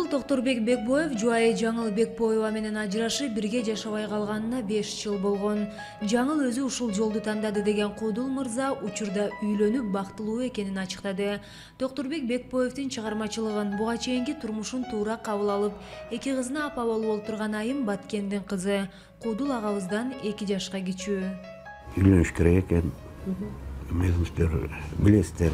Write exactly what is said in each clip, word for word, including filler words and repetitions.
Токторбек Бекбоев жубайы Жаңыл Бекбоева менен ажырашып, бирге жашабай калганына беш жыл болгон. Жаңыл өзү ушул жолду тандады деген Куудул мырза учурда үйлөнүп бактылуу экенин ачыктады. Токторбек Бекбоевдин чыгармачылыгын, буга чейинки турмушун туура кабыл алып, эки кызына апа болуп отурган Айым Баткендин кызы. Куудул агабыздан эки жашка кичүү. Үйлөнүш керек экен. Өзүңүздөр билесиздер.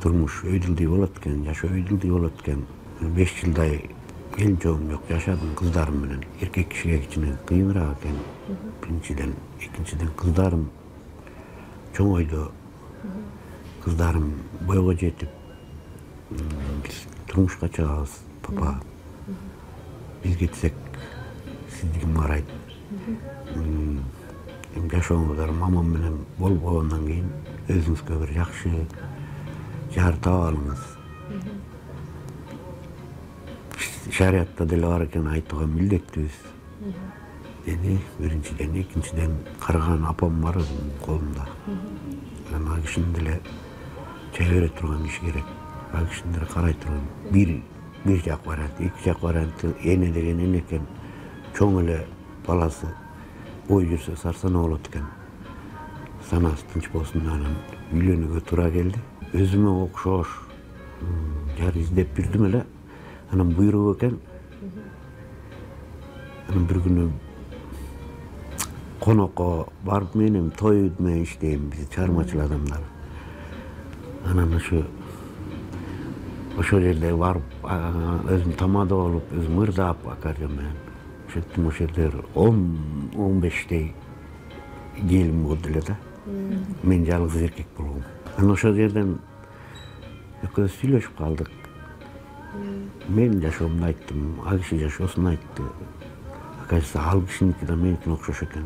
Турмуш өйдүлдүй болот экен, жашоо өйдүлдүй болот экен. беш жылдай келин чогум жок, жашадым кыздарым менен. Эркек кишиге кичине кыйыныраак экен. Биринчиден, экинчиден кыздарым чоңойду. Кыздарым бойго жетип, биз турмушка чыгабыз, папа. Биз кетсек, сизди ким карайт? Эми жашооңуздар мамам менен болбогондон кийин өзүңүзгө бир жакшы жар таап алыңыз. Шариятта деле бар экен, айтууга милдеттүүбүз деди. Биринчиден, экинчиден карыган апам бар өзүмдүн колумда. Ана кишини деле чай бере турган киши керек. Ал кишини деле карай турган. Бир бир жак вариант, эки жак варианты эне деген эне экен. Чоң эле баласы бой жүрсө сарсана болот экен. Санасы тынч болсун, анан үйлөнүүгө туура келди. Өзүмө окшош жар издеп бирдим эле. Анан буйрук экен. Анан бир күнү конокко барып, менин той менен иштейм, биз чыгармачыл адамдар. Анан ошо ошол жерде барып, өзүм тамада болуп, өзүм ырдап аккордеон менен. Ошентип ошол жерде он он бештей келин болду эле да. Мен жалгыз эркек болгом. Анан ошол жерден экөөбүз сүйлөшүп калдык. Мен жашоомду айттым, ал киши жашоосун айтты. Оказывается, ал кишиники да меникине окшош экен.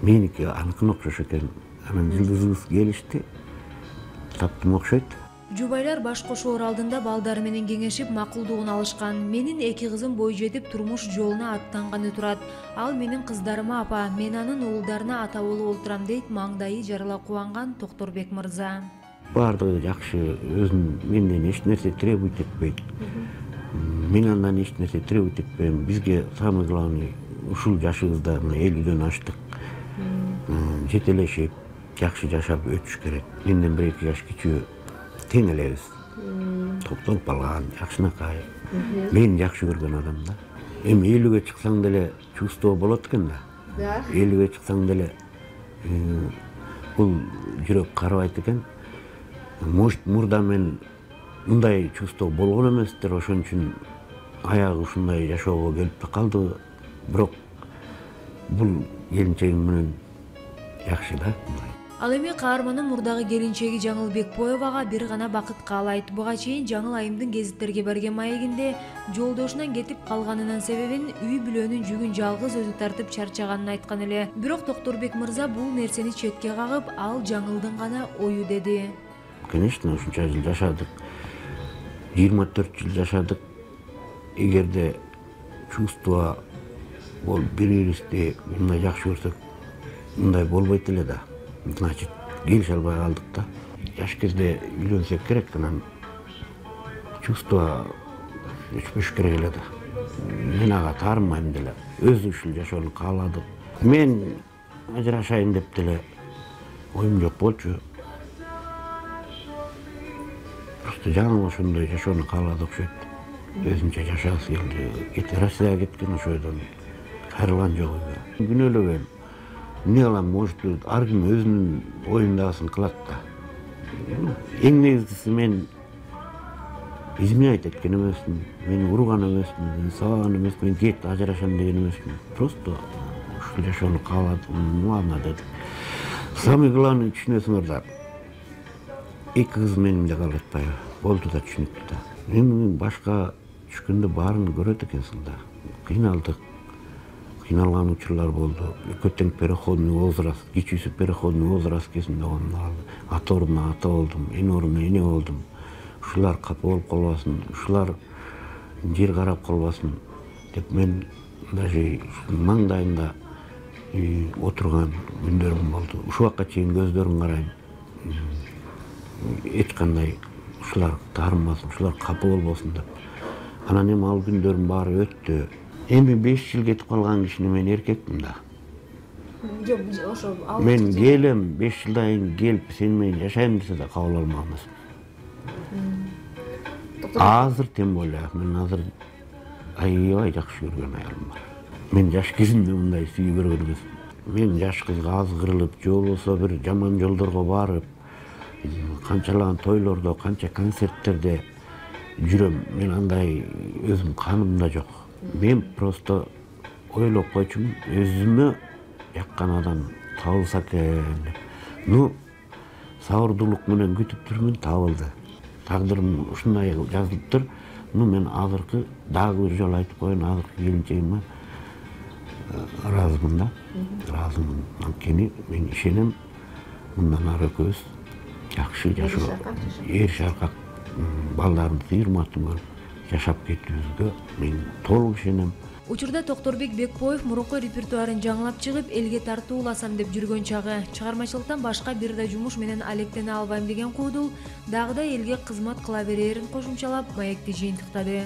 Меники аныкына окшош экен. Анан жылдызыбыз келишти. Таптым окшойт. Жубайлар баш кошоор алдында балдары менен кеңешип макулдугун алышкан. Менин эки кызым бой жетип турмуш жолуна аттанганы турат. Ал менин кыздарыма апа, мен анын уулдарына ата болуп отурам дейт маңдайы жарыла кубанган Токторбек мырза. Бардыгы жакшы, өзүн менден эч нерсе требуйт этпейт. Мен андан эч нерсе требуйт этпейм. Бизге самый главный ушул жашыбызда элүүдөн аштык. Жетелешип, жакшы жашап өтүш керек. Менден бир эки жаш кичүү тең элебиз. Токтолуп калган, жакшынакай. Мен жакшы көргөн адам да. Эми элүүгө чыксаң деле чувство болот экен да. Да. элүүгө чыксаң деле бул жүрөк карабайт экен. Может, мурда мен мындай чувство болгон эместир, ошон үчүн аягы ушундай жашоого келип да калды. Бирок бул келинчегим менен жакшы да. Ал эми каармандын мурдагы келинчеги Жаңыл Бекбоевага бир гана бакыт каалайт. Буга чейин Жаңыл Айымдын гезиттерге берген маегинде жолдошунан кетип калганынын себебин үй бүлөнүн жүгүн жалгыз өзү тартып чарчаганын айткан эле. Бирок Токторбек мырза бул нерсени четке кагып, ал Жаңылдын гана ою деди. Конечно, ушунча жыл жашадык. жыйырма төрт жыл жашадык. Эгерде чувство болуп бири-бирибизди мындай жакшы көрсөк, мындай болбойт эле да. Значит, келише албай калдык да. Жаш кезде үйлөнсөк керек, анан чувство өчпөш керек эле да. Мен ага таарынмайм деле. Өзү ушул жашоону кааладык. Мен ажырашайын деп деле оюм жок болчу. Жаңыл ошондой жашоону каалады окшойт. Өзүнчө жашагысы келди. Кете Россияга кеткен ошойдон кайрылган жок үйгө. Күнөөлөгөн. Эмне кылам, может, ар ким өзүнүн оюндагысын кылат да. Эң негизгиси, мен изменять эткен эмесмин, мени урган эмесмин, сабаган эмесмин, кет ажырашам деген эмесмин. Просто ушул жашоону кааладым, муана дедим. Самый главный түшүнөсүңөр да, эки кыз менимде калып атпайбы? Болду да түшүнүктүү да. Эми башка түшкөндө баарын көрөт экенсиң да. Кыйналдык. Кыйналган учурлар болду. Экөө тең переходный возраст, кичүүсү переходный возраст кезинде болду. Ата ордуна ата болдум, эне ордуна эне болдум. Ушулар капа болуп калбасын, ушулар жер карап калбасын деп мен даже маңдайымда отурган күндөрүм болду. Ушул убакка чейин көздөрүн карайм. Эч кандай ушулар таарынбасын, ушулар капа болбосун деп. Анан эми ал күндөрдүн баары өттү. Эми беш жыл кетип калган кишини мен эркекмин да. Жок, ошо Мен келем, беш жылдан кийин келип сен менен жашайм десе да кабыл алмак эмесмин. Азыр тем более мен азыр аябай жакшы көргөн аялым бар. Мен жаш кезимде мындай сүйүү көргөн эмесмин. Мен жаш кызга азгырылып, же болбосо бир жаман жолдорго барып, канчалаган тойлордо, канча концерттерде жүрөм. Мен андай өзүм канымда жок. Мен просто ойлоп койчумун, өзүмө жаккан адам табылса экен деп. Ну, сабырдуулук менен күтүп жүрмүн, табылды. Тагдырым ушундай жазылыптыр. Ну, мен азыркы дагы бир жолу айтып коеюн, азыркы келинчегиме ыраазымын да. Ыраазымын. Анткени мен ишенем, мындан ары экөөбүз жакшы жашоо, эр шаркак балдарыбызды урматтуу көрүп жашап кетүүбүзгө мен толук ишенем. Учурда Токторбек Бекбоев мурунку репертуарын жаңылап чыгып, элге тартууласам деп жүргөн чагы. Чыгармачылыктан башка бир да жумуш менен алектене албайм деген Куудул дагы да элге кызмат кыла берерин кошумчалап, маекти жыйынтыктады.